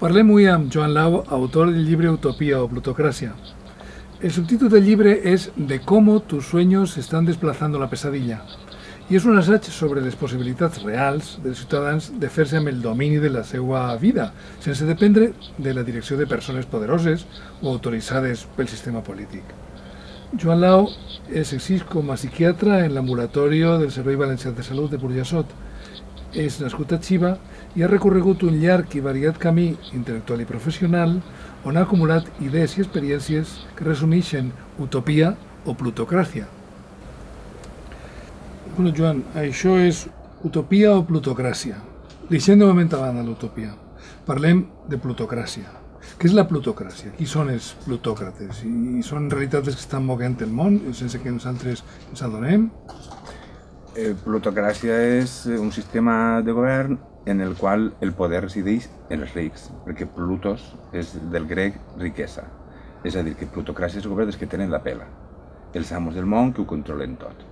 Parlem avui amb Joan Lau, autor del llibre Utopia o Plutocracia. El subtítulo del libro es De cómo tus sueños están desplazando la pesadilla i és un assaig sobre les possibilitats reals dels ciutadans de fer-se amb el domini de la seva vida, sense dependre de la direcció de persones poderoses o autoritzades pel sistema polític. Joan Lau exerceix com a psiquiatre en l'ambulatori del Servei Valencià de Salut de Burjassot. És nascut a Xiva i ha recorregut un llarg i variat camí intel·lectual i professional on ha acumulat idees i experiències que resumeixen utopia o plutocràcia. Bueno, Joan, això és utopia o plutocràcia. Deixem de moment a banda l'utopia. Parlem de plutocràcia. Què és la plutocràcia? Qui són els plutòcrates? I són en realitat els que estan moguent el món sense que nosaltres ens adonem? Plutocràcia és un sistema de govern en el qual el poder resideix en els rics, perquè plutos és del grec riquesa. És a dir, que plutocràcia és el govern dels que tenen la pela, els amos del món que ho controlen tot.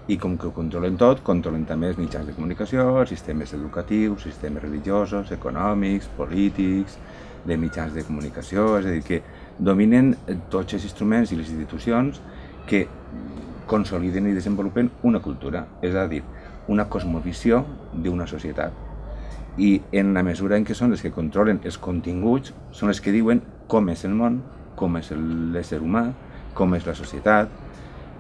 I com que ho controlen tot, controlen també els mitjans de comunicació, els sistemes educatius, sistemes religiosos, econòmics, polítics, de mitjans de comunicació, és a dir, que dominen tots els instruments i les institucions que consoliden i desenvolupen una cultura, és a dir, una cosmovisió d'una societat. I en la mesura en què són els que controlen els continguts, són els que diuen com és el món, com és l'ésser humà, com és la societat,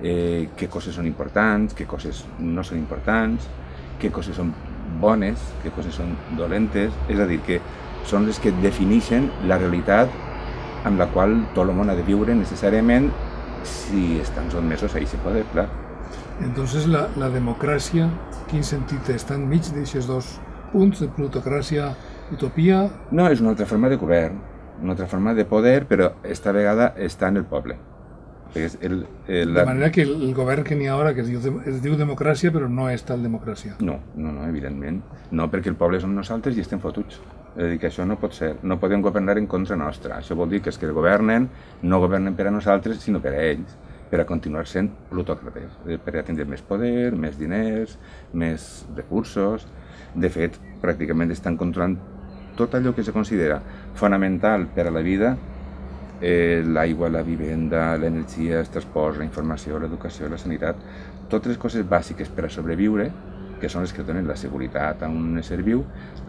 què coses són importants, què coses no són importants, què coses són bones, què coses són dolentes, és a dir, que són les que defineixen la realitat amb la qual tot el món ha de viure necessàriament si estan sotmesos a aquest poder, clar. Entonces la democràcia, quin sentit està enmig d'aquests dos punts de plutocràcia, utopia? No, és una altra forma de govern, una altra forma de poder, però esta vegada està en el poble. De manera que el govern que n'hi ha ara, que es diu democràcia, però no és tal democràcia. No, evidentment. No, perquè el poble som nosaltres i estem fotuts. És a dir, que això no pot ser. No podem governar en contra nostra. Això vol dir que els que governen no governen per a nosaltres, sinó per a ells, per a continuar sent plutòcrates, per a tindre més poder, més diners, més recursos. De fet, pràcticament estan controlant tot allò que se considera fonamental per a la vida, l'aigua, la vivenda, l'energia, els transports, la informació, l'educació, la sanitat, totes les coses bàsiques per a sobreviure, que són les que donen la seguretat a un ésser viu,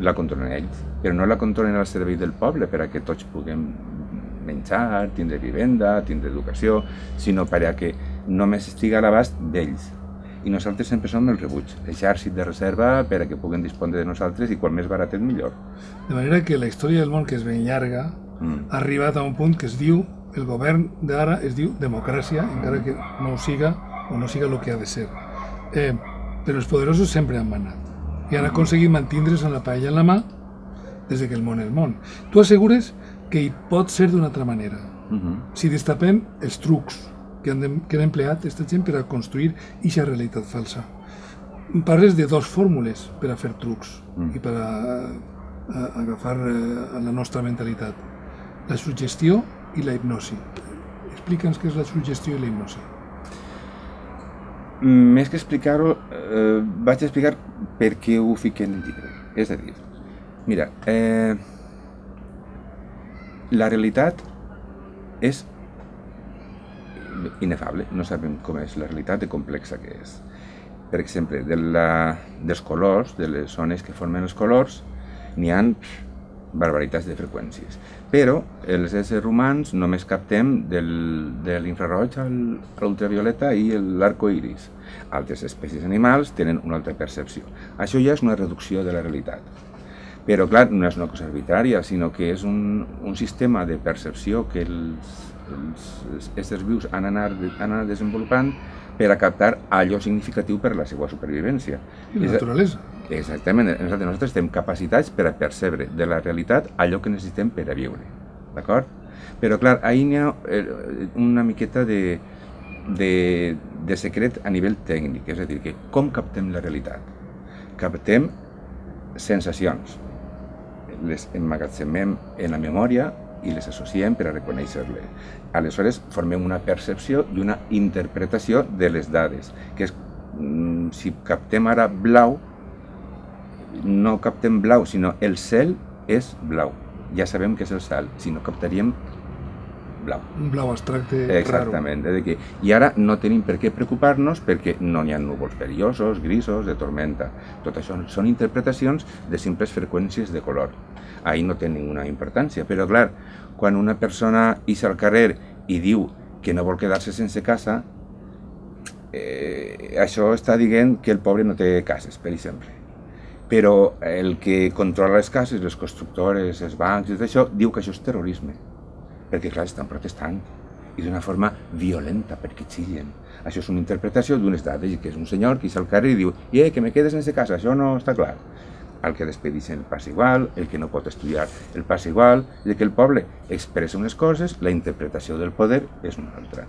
la controlen ells, però no la controlen al servei del poble per a que tots puguem menjar, tindre vivenda, tindre educació, sinó per a que només estiga a l'abast d'ells. I nosaltres sempre som el rebuig, l'exèrcit de reserva per a que puguen dispondre de nosaltres i quan més baratet millor. De manera que la història del món, que és ben llarga, ha arribat a un punt que es diu, el govern d'ara es diu democràcia, encara que no ho siga o no siga el que ha de ser. Però els poderosos sempre han manat i han aconseguit mantindre's amb la paella en la mà des que el món és món. Tu assegures que hi pot ser d'una altra manera, si destapem els trucs que han empleat aquesta gent per a construir aquesta realitat falsa. Parles de dues fórmules per a fer trucs i per a agafar la nostra mentalitat: la suggestió i la hipnosi. Explica'ns què és la suggestió i la hipnosi. Més que explicar-ho, vaig explicar per què ho fiqué en el llibre. És a dir, mira, la realitat és inefable, no sabem com és la realitat de complexa que és. Per exemple, dels colors, de les zones que formen els colors, n'hi ha barbaritats de freqüències. Però els éssers humans només captem de l'infraroig a l'ultravioleta i l'arco iris. Altres espècies animals tenen una altra percepció. Això ja és una reducció de la realitat. Però, clar, no és una cosa arbitrària, sinó que és un sistema de percepció que els éssers vius han anat desenvolupant per a captar allò significatiu per a la seva supervivència. I la naturalesa. Exactament. Nosaltres estem capacitats per a percebre de la realitat allò que necessitem per a viure. D'acord? Però, clar, ahir n'hi ha una miqueta de secret a nivell tècnic. És a dir, que com captem la realitat? Captem sensacions. Les emmagatzemem en la memòria i les associem per a reconèixer-les. Aleshores, formem una percepció i una interpretació de les dades, que és, si captem ara blau, no captem blau, sinó el cel és blau. ja sabem que és el cel, si no captaríem blau. Un blau abstracte Exactament. I ara no tenim per què preocupar-nos perquè no n'hi ha núvols perillosos, grisos, de tormenta. Tot això són interpretacions de simples freqüències de color. Ahí no té ninguna importància, però clar, quan una persona ix al carrer i diu que no vol quedar-se sense casa, això està dient que el pobre no té cases, per exemple. Però el que controla les cases, les constructores, els bancs, tot això, diu que això és terrorisme. Perquè, clar, estan protestant i d'una forma violenta, perquè xillen. Això és una interpretació d'unes dades, que és un senyor que ix al carrer i diu que me quedes sense casa, això no està clar. El que despedixen el passa igual, el que no pot estudiar el passa igual, i que el poble expressa unes coses, la interpretació del poder és una altra.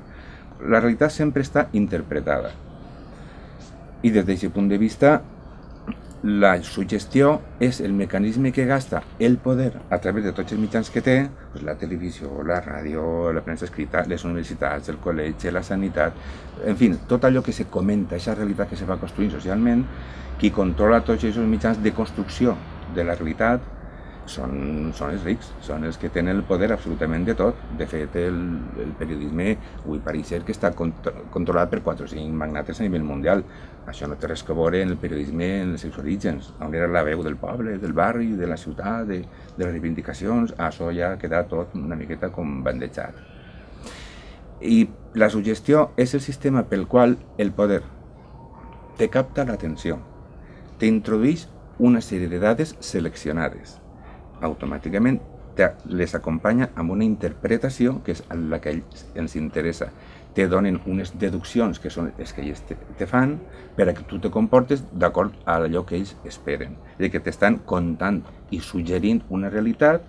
La realitat sempre està interpretada. I des d'aquest punt de vista, la suggestió és el mecanisme que gasta el poder a través de tots els mitjans que té, la televisió, la ràdio, la premsa escrita, les universitats, el col·legi, la sanitat, en fi, tot allò que se comenta, aquesta realitat que se va construint socialment, qui controla tots aquests mitjans de construcció de la realitat són els rics, són els que tenen el poder absolutament de tot. De fet, el periodisme avui pareix ser que està controlat per 4 o 5 magnates a nivell mundial. Això no té res a veure en el periodisme en els seus orígens, on era la veu del poble, del barri, de la ciutat, de les reivindicacions. Això ja ha quedat tot una miqueta com bandejat. I la suggestió és el sistema pel qual el poder te capta l'atenció, t'introdueix una sèrie de dades seleccionades. Automàticament les acompanya amb una interpretació que és la que a ells ens interessa. Te donen unes deduccions que són les que ells te fan per a que tu te comportes d'acord a allò que ells esperen. És a dir, que t'estan contant i suggerint una realitat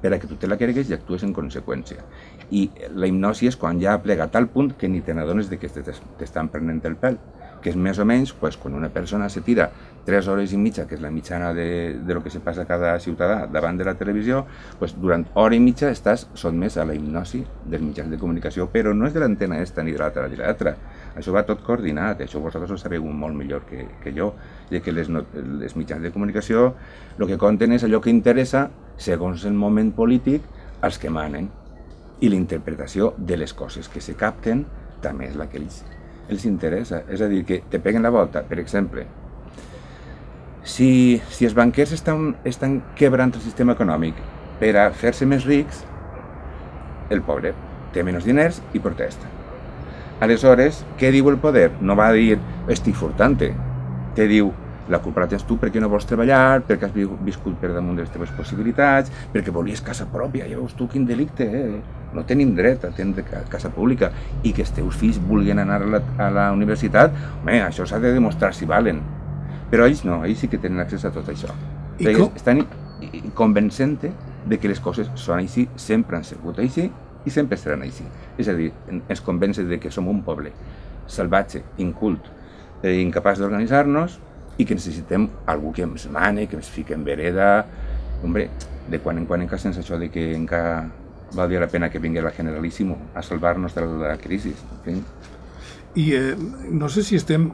per a que tu te la cregues i actues en conseqüència. I la hipnosi és quan ja ha plegat al punt que ni te n'adones que t'estan prenent el pèl, que és més o menys quan una persona se tira 3 hores i mitja, que és la mitjana de lo que se passa a cada ciutadà davant de la televisió, durant hora i mitja estàs sotmès a la hipnosi dels mitjans de comunicació, però no és de l'antena esta ni de l'altra. Això va tot coordinat, això vosaltres ho sabeu molt millor que jo, i que les mitjans de comunicació el que conten és allò que interessa, segons el moment polític, als que manen. I la interpretació de les coses que se capten també és la que els interessa. És a dir, que te peguen la volta. Per exemple, si els banquers estan quebrant el sistema econòmic per a fer-se més rics, el pobre té menys diners i protesta. Aleshores, què diu el poder? No va dir, estic furtant-te. Te diu, la culpa la tens tu perquè no vols treballar, perquè has viscut per damunt de les teves possibilitats, perquè volies casa pròpia, ja veus tu quin delicte, no tenim dret a tenir casa pública, i que els teus fills vulguin anar a la universitat, home, això s'ha de demostrar si valen. Però ells no, ells sí que tenen accés a tot això. Estan convencent de que les coses són així, sempre han sigut així i sempre seran així. És a dir, ens convencen de que som un poble salvatge, incult, incapaç d'organitzar-nos, i que necessitem algú que ens mane, que ens fiqui en vereda. Hombre, de quan en quan encara sense això de que encara valdria la pena que vingui la Generalíssimo a salvar-nos de la crisi. I no sé si estem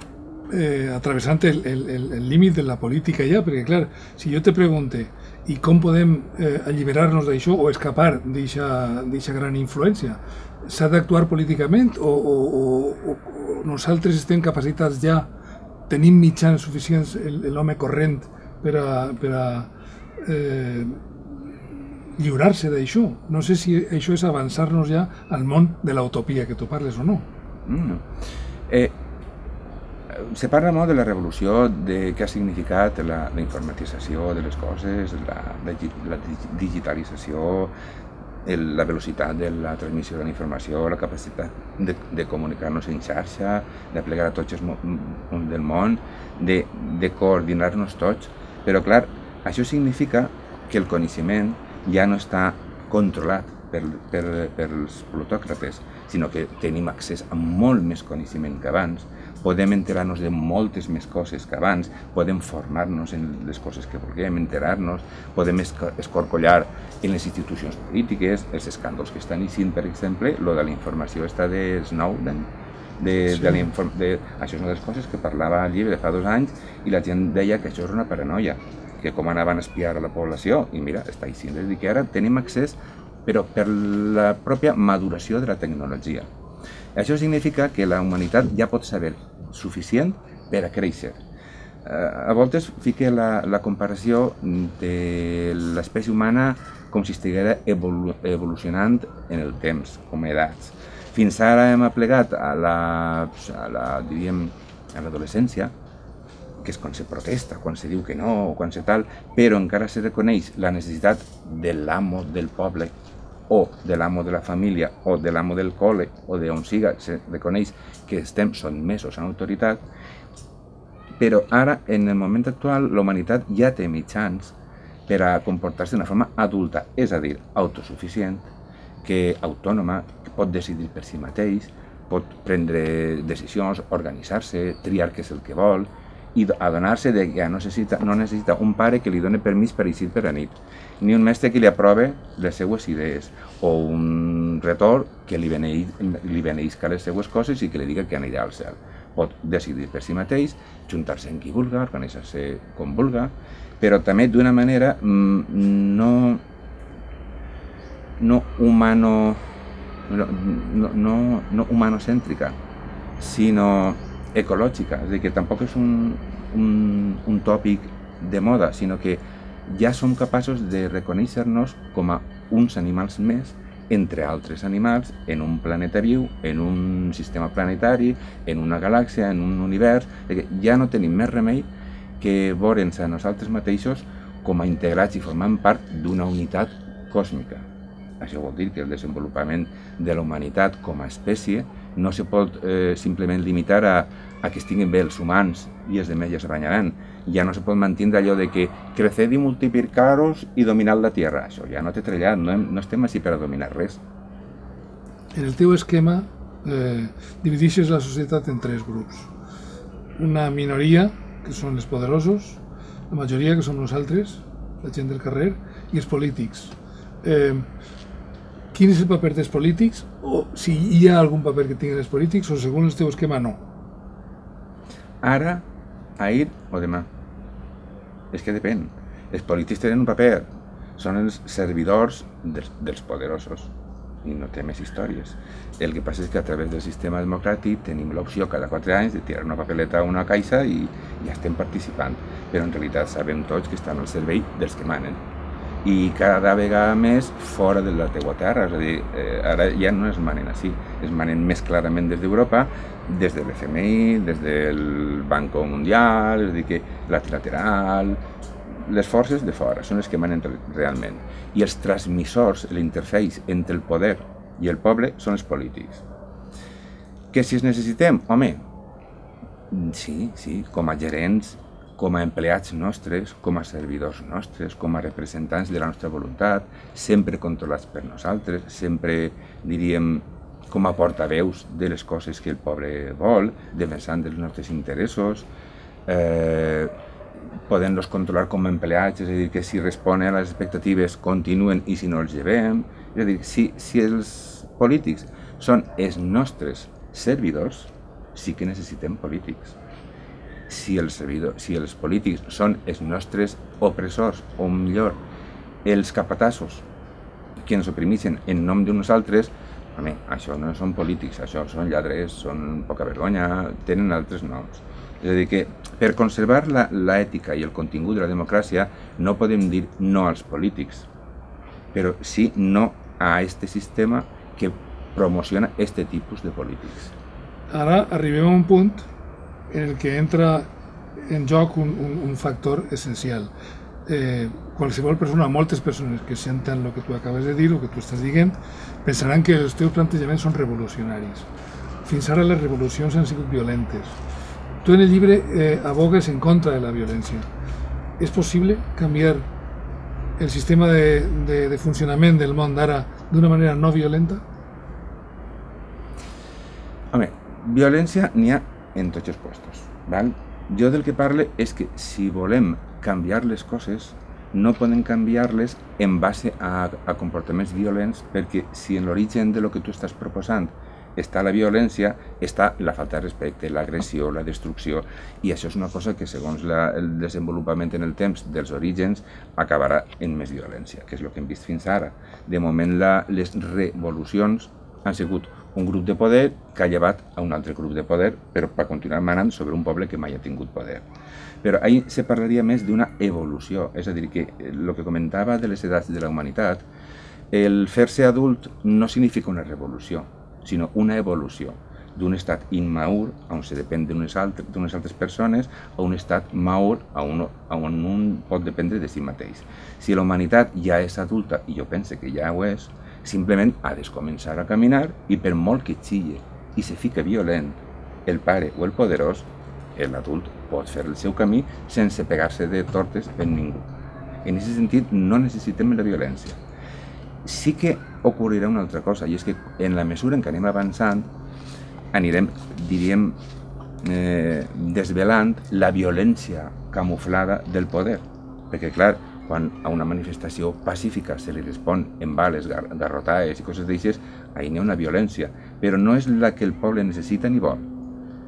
atravessant el límit de la política ja, perquè clar, si jo te pregunte i com podem alliberar-nos d'això o escapar d'aquesta gran influència, s'ha d'actuar políticament o nosaltres estem capacitats ja, tenim mitjans suficients l'home corrent per a lliurar-se d'això? No sé si això és avançar-nos ja al món de l'utopia que tu parles o no. Se parla molt de la revolució, de què ha significat la informatització de les coses, la digitalització, la velocitat de la transmissió de la informació, la capacitat de comunicar-nos en xarxa, de plegar a tots els punts del món, de coordinar-nos tots. Però, clar, això significa que el coneixement ja no està controlat pels plutòcrates, sinó que tenim accés a molt més coneixement que abans, podem enterar-nos de moltes més coses que abans, podem formar-nos en les coses que vulguem, enterar-nos, podem escorcollar en les institucions polítiques, els escàndols que estan eixint, per exemple, lo de la informació està de Snowden, això és una de les coses que parlava al llibre de fa 2 anys i la gent deia que això és una paranoia. que com anaven a espiar a la població, i mira, està així, és a dir, que ara tenim accés, però per la pròpia maduració de la tecnologia. Això significa que la humanitat ja pot saber suficient per a créixer. A voltes fique la comparació de l'espècie humana com si estiguera evolucionant en el temps, com a edats. Fins ara hem aplegat a l'adolescència, que és quan se protesta, quan se diu que no, quan se tal, però encara se reconeix la necessitat de l'amo del poble, o de l'amo de la família, o de l'amo del col·le, o d'on siga, se reconeix que estem sotmesos a l'autoritat, però ara, en el moment actual, la humanitat ja té mitjans per a comportar-se d'una forma adulta, és a dir, autosuficient, autònoma, que pot decidir per si mateix, pot prendre decisions, organitzar-se, triar què és el que vol, i adonar-se que no necessita un pare que li doni permís per eixir per la nit, ni un mestre que li aprove les seues idees, o un retor que li beneïsca les seues coses i que li diga que anirà al cel. Pot decidir per si mateix, juntar-se amb qui vulga, organitzar-se com vulga, però també d'una manera no humanocèntrica, sinó ecològica, és a dir, que tampoc és un tòpic de moda, sinó que ja som capaços de reconèixer-nos com a uns animals més entre altres animals en un planeta viu, en un sistema planetari, en una galàxia, en un univers, que ja no tenim més remei que veure'ns a nosaltres mateixos com a integrats i formant part d'una unitat còsmica. Això vol dir que el desenvolupament de la humanitat com a espècie no se pot simplement limitar a que estiguin bé els humans i els demés ja se banyaran. Ja no se pot mantenir allò de que creced i multiplicaros i dominad la tierra. Això ja no té trellat, no estem així per a dominar res. En el teu esquema divideixes la societat en tres grups. Una minoria, que són els poderosos, la majoria, que som nosaltres, la gent del carrer, i els polítics. Quin és el paper dels polítics? O si hi ha algun paper que tinguin els polítics, o segons el teu esquema, no? Ara, ahir o demà. És que depèn. Els polítics tenen un paper. Són els servidors dels poderosos. I no té més històries. El que passa és que a través del sistema democràtic tenim l'opció cada 4 anys de tirar una papeleta a una caixa i ja estem participant. Però en realitat sabem tots que estan al servei dels que manen. I cada vegada més fora de la teua terra, és a dir, ara ja no es manen així, es manen més clarament des d'Europa, des de l'FMI, des del Banco Mundial, és a dir, que la trilateral, les forces de fora són les que manen realment. I els transmissors, l'interface entre el poder i el poble són els polítics. Que si els necessitem? Home, sí, com a gerents, com a empleats nostres, com a servidors nostres, com a representants de la nostra voluntat, sempre controlats per nosaltres, sempre, diríem, com a portaveus de les coses que el poble vol, defensant els nostres interessos, podent-los controlar com a empleats, és a dir, que si responen a les expectatives continuen i si no els llevem. És a dir, si els polítics són els nostres servidors, sí que necessitem polítics. Si els polítics són els nostres opressors, o millor, els capatassos que ens oprimeixen en nom de nosaltres, home, això no són polítics, això són lladres, són poca vergonya, tenen altres noms. És a dir, que per conservar l'ètica i el contingut de la democràcia no podem dir no als polítics, però sí no a aquest sistema que promociona aquest tipus de polítics. Ara arribem a un punt en el que entra en joc un factor essencial. Qualsevol persona, moltes persones que senten el que tu acabes de dir, el que tu estàs dient, pensaran que els teus plantejaments són revolucionaris. Fins ara les revolucions han sigut violentes. Tu en el llibre abogues en contra de la violència. És possible canviar el sistema de funcionament del món d'ara d'una manera no violenta? Home, violència n'hi ha en tots els puestos, val? Jo del que parle és que si volem canviar les coses, no podem canviar-les en base a comportaments violents, perquè si en l'origen de lo que tu estàs proposant està la violència, està la falta de respecte, l'agressió, la destrucció, i això és una cosa que, segons el desenvolupament en el temps dels orígens, acabarà en més violència, que és el que hem vist fins ara. De moment, les revolucions han sigut un grup de poder que ha llevat a un altre grup de poder, però per continuar manant sobre un poble que mai ha tingut poder. Però ahir se parlaria més d'una evolució, és a dir, que el que comentava de les edats de la humanitat, el fer-se adult no significa una revolució, sinó una evolució d'un estat immaur, on se depèn d'unes altres persones, a un estat maur, on un pot dependre de si mateix. Si la humanitat ja és adulta, i jo penso que ja ho és, simplement ha de començar a caminar, i per molt que xille i se fica violent el pare o el poderós, l'adult pot fer el seu camí sense pegar-se de tortes en ningú. En aquest sentit, no necessitem la violència. Sí que ocorrirà una altra cosa, i és que en la mesura en què anem avançant, anirem, diríem, desvelant la violència camuflada del poder. Perquè, clar, quan a una manifestació pacífica se li respon amb bales, garrotades i coses d'aixes, ahir n'hi ha una violència, però no és la que el poble necessita ni vol,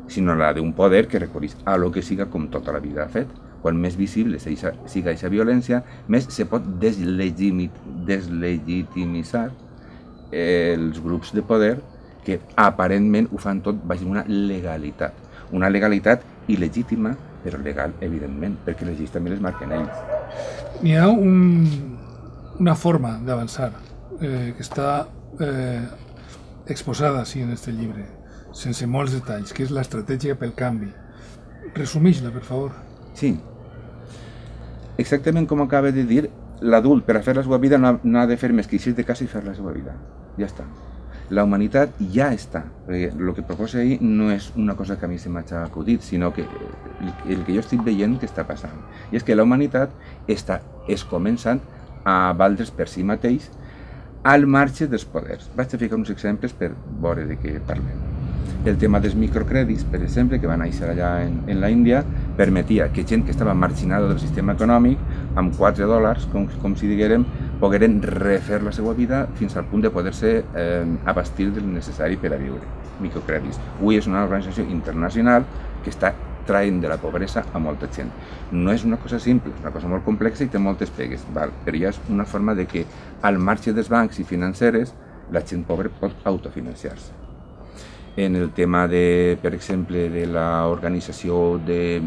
sinó la d'un poder que recorreix a lo que siga com tota la vida ha fet. Quan més visible siga aquesta violència, més se pot deslegitimitzar els grups de poder que aparentment ho fan tot baix una legalitat. Una legalitat il·legítima, però legal, evidentment, perquè les lleis també les marquen ells. N'hi ha una forma d'avançar que està exposada sí, en aquest llibre, sense molts detalls, que és l'estratègia pel canvi. Resumeix-la, per favor. Sí. Exactament com acaba de dir, l'adult per a fer la seva vida no ha de fer més que eixir de casa i fer la seva vida. Ja està. La humanitat ja està. El que proposa ahir no és una cosa que a mi se m'ha acudit, sinó que el que jo estic veient que està passant. I és que la humanitat és començant a valdre's per si mateix al marge dels poders. Vaig a ficar uns exemples per veure de què parlem. El tema dels microcrèdits, per exemple, que van néixer allà en la Índia, permetia que gent que estava marginada del sistema econòmic, amb $4, com si diguérem, pogueren refer la seva vida fins al punt de poder-se abastir del necessari per a viure. Microcrèdits. Avui és una organització internacional que està traient de la pobresa a molta gent. No és una cosa simple, és una cosa molt complexa i té moltes pegues, però ja és una forma de que al marge dels bancs i financeres la gent pobra pot autofinanciar-se. En el tema, per exemple, de l'organització de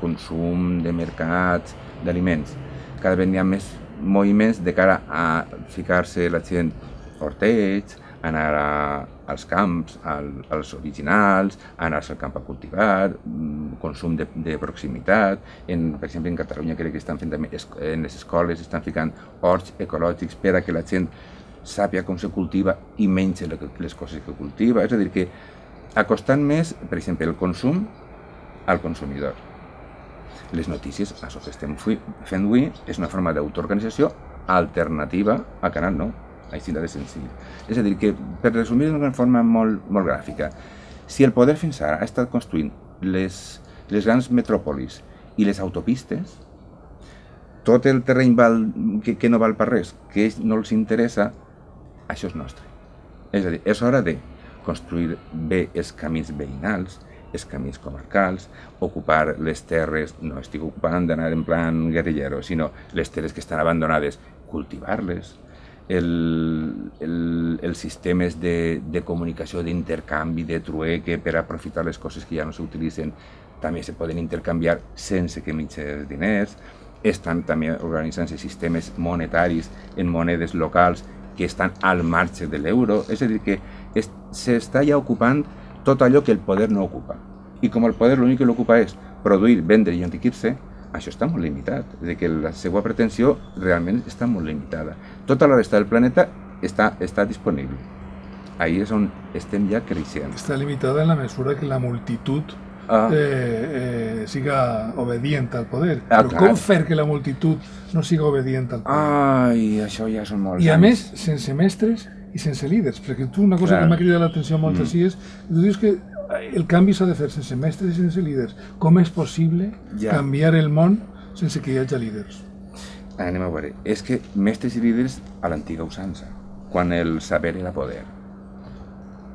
consum, de mercats, d'aliments, cada vegada hi ha més moviments de cara a ficar-se la gent hortets, anar als camps, als originals, anar al camp a cultivar, consum de proximitat. Per exemple, en Catalunya crec que estan fent també, en les escoles estan ficant horts ecològics per a que la gent sàpia com se cultiva i menja les coses que cultiva. És a dir, que acostant més, per exemple, el consum al consumidor. Les notícies, això que estem fent avui, és una forma d'autoorganització alternativa a Canal 9, així de senzill. És a dir, que, per resumir d'una forma molt gràfica, si el poder fins ara ha estat construint les grans metròpolis i les autopistes, tot el terreny que no val per res, que no els interessa, això és nostre. És a dir, és hora de construir bé els camins veïnals, els camins comarcals, ocupar les terres, no estic ocupant d'anar en plan guerrillero, sinó les terres que estan abandonades, cultivar-les, els sistemes de comunicació, d'intercanvi, de trueque, per aprofitar les coses que ja no s'utilitzen, també se poden intercanviar sense que menges diners. Estan també organitzant-se sistemes monetaris en monedes locals que estan al marge de l'euro. És a dir, que s'està ja ocupant tot allò que el poder no ocupa. I com el poder l'únic que l'ocupa és produir, vendre i enriquir-se, això està molt limitat. És a dir, que la seva pretensió realment està molt limitada. Tota la resta del planeta està disponible. Ahí és on estem ja creixent. Està limitada en la mesura que la multitud siga obedient al poder. Però com fer que la multitud no siga obedient al poder? Ai, això ja són molts anys. I a més, sense mestres i sense líders, perquè tu una cosa que m'ha cridat l'atenció molt així és, tu dius que el canvi s'ha de fer sense mestres i sense líders. Com és possible canviar el món sense que hi hagi líders? Anem a veure. És que mestres i líders a l'antiga usança, quan el saber era poder.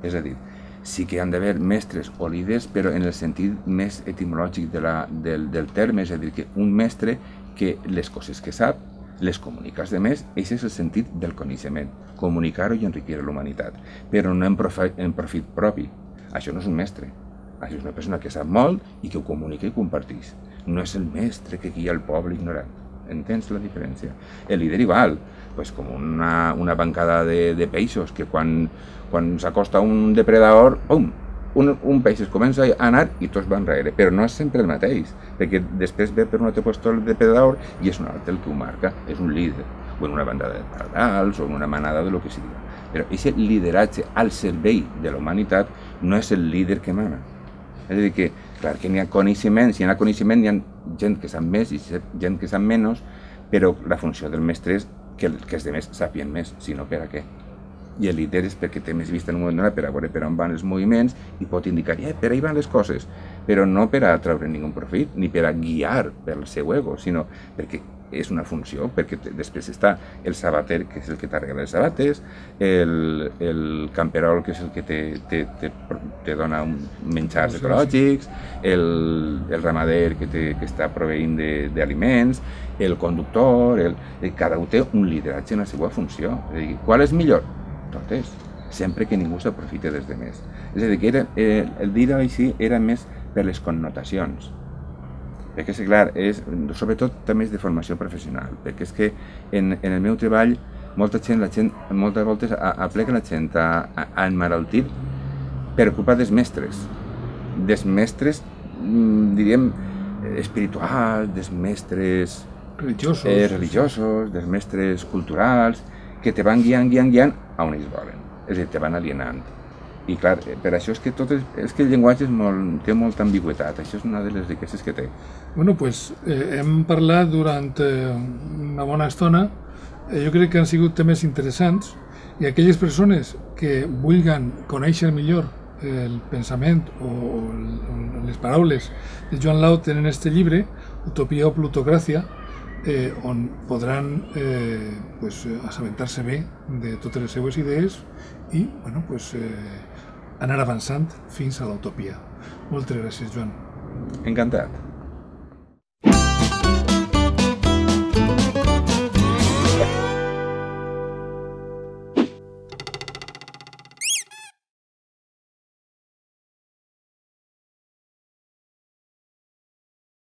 És a dir, sí que han d'haver mestres o líders, però en el sentit més etimològic del terme, és a dir, que un mestre que les coses que sap les comunica als demés, aquest és el sentit del coneixement, comunicar-ho i enriquir la humanitat, però no en profit propi. Això no és un mestre, això és una persona que sap molt i que ho comunica i comparteix. No és el mestre que guia el poble ignorant. Entens la diferència? El líder igual, pues com una bancada de peixos que quan s'acosta un depredador, pum, un peix es comença a anar i tots van enrere, però no és sempre el mateix, perquè després ve per un altre lloc el depredador i és un altre el que ho marca, és un líder, o en una bandada de pardals, o en una manada de lo que sigui. Però aquest lideratge al servei de la humanitat no és el líder que mana. És a dir que, clar, que n'hi ha coneixement, si hi ha coneixement hi ha gent que sap més i gent que sap menys, però la funció del mestre és que els altres sàpien més, si no per a què. I el líder és perquè té més vista en un moment donat per a veure per on van els moviments i pot indicar, per ahí van les coses, però no per a treure ningú profit, ni per a guiar pel seu ego, sinó perquè és una funció, perquè després està el sabater, que és el que t'arregla les sabates, el camperol, que és el que te dona menjars ecològics, el ramader que està proveint d'aliments, el conductor, cada un té un lideratge en la seva funció. És a dir, qual és millor? Totes, sempre que ningú s'aprofite dels demés. És a dir, que el dir-ho així era més per les connotacions. Perquè és clar, sobretot també és de formació professional, perquè és que en el meu treball moltes voltes aplega la gent a emmalaltir per culpa dels mestres, diríem, espirituals, dels mestres religiosos, dels mestres culturals, que te van guiant a on ells volen, és a dir, te van alienant. I clar, per això és que el llenguatge té molta ambigüitat, això és una de les riqueses que té. Bueno, pues hem parlat durant una bona estona, jo crec que han sigut temes interessants, i aquelles persones que vulguin conèixer millor el pensament o les paraules de Joan Lau tenen este llibre, Utopia o Plutocràcia, on podran assabentar-se bé de totes les seues idees i anar avançant fins a l'utopia. Moltes gràcies, Joan. Encantat.